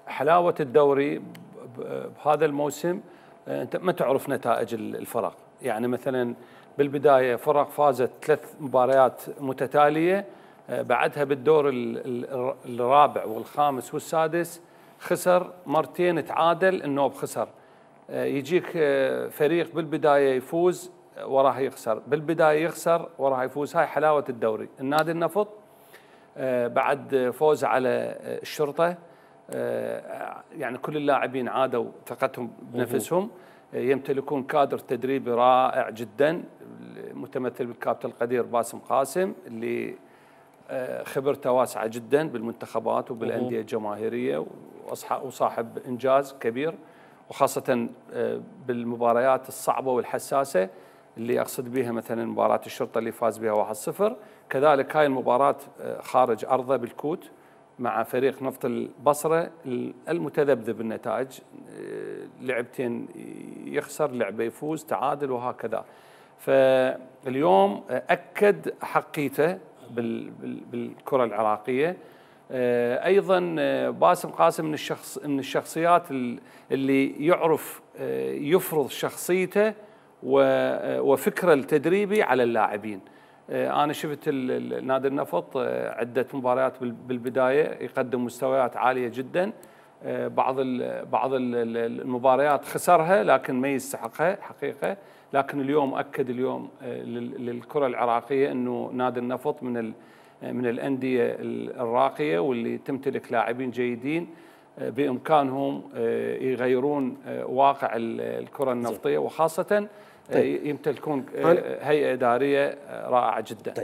حلاوة الدوري بهذا الموسم، انت ما تعرف نتائج الفرق. يعني مثلا بالبداية فرق فازت 3 مباريات متتالية، بعدها بالدور الرابع والخامس والسادس خسر مرتين، تعادل، النوب خسر. يجيك فريق بالبداية يفوز وراه يخسر، بالبداية يخسر وراه يفوز. هاي حلاوة الدوري. النادي النفط بعد فوز على الشرطة، يعني كل اللاعبين عادوا ثقتهم بنفسهم، يمتلكون كادر تدريبي رائع جدا متمثل بالكابتن القدير باسم قاسم، اللي خبرته واسعة جدا بالمنتخبات وبالأندية الجماهيرية، وصاحب إنجاز كبير، وخاصة بالمباريات الصعبة والحساسة اللي أقصد بها مثلا مباراة الشرطة اللي فاز بها 1-0. كذلك هاي المباراة خارج أرضه بالكوت مع فريق نفط البصرة المتذبذب النتائج، لعبتين يخسر، لعبة يفوز، تعادل، وهكذا. فاليوم أكد حقيته بالكرة العراقية. أيضا باسم قاسم من الشخصيات اللي يعرف يفرض شخصيته وفكره التدريبي على اللاعبين. أنا شفت نادي النفط عدة مباريات بالبداية يقدم مستويات عالية جدا، بعض المباريات خسرها لكن ما يستحقها حقيقة. لكن اليوم أكد للكرة العراقية أنه نادي النفط من الأندية الراقية واللي تمتلك لاعبين جيدين بإمكانهم يغيرون واقع الكرة النفطية، وخاصة يمتلكون هيئة إدارية رائعة جدا.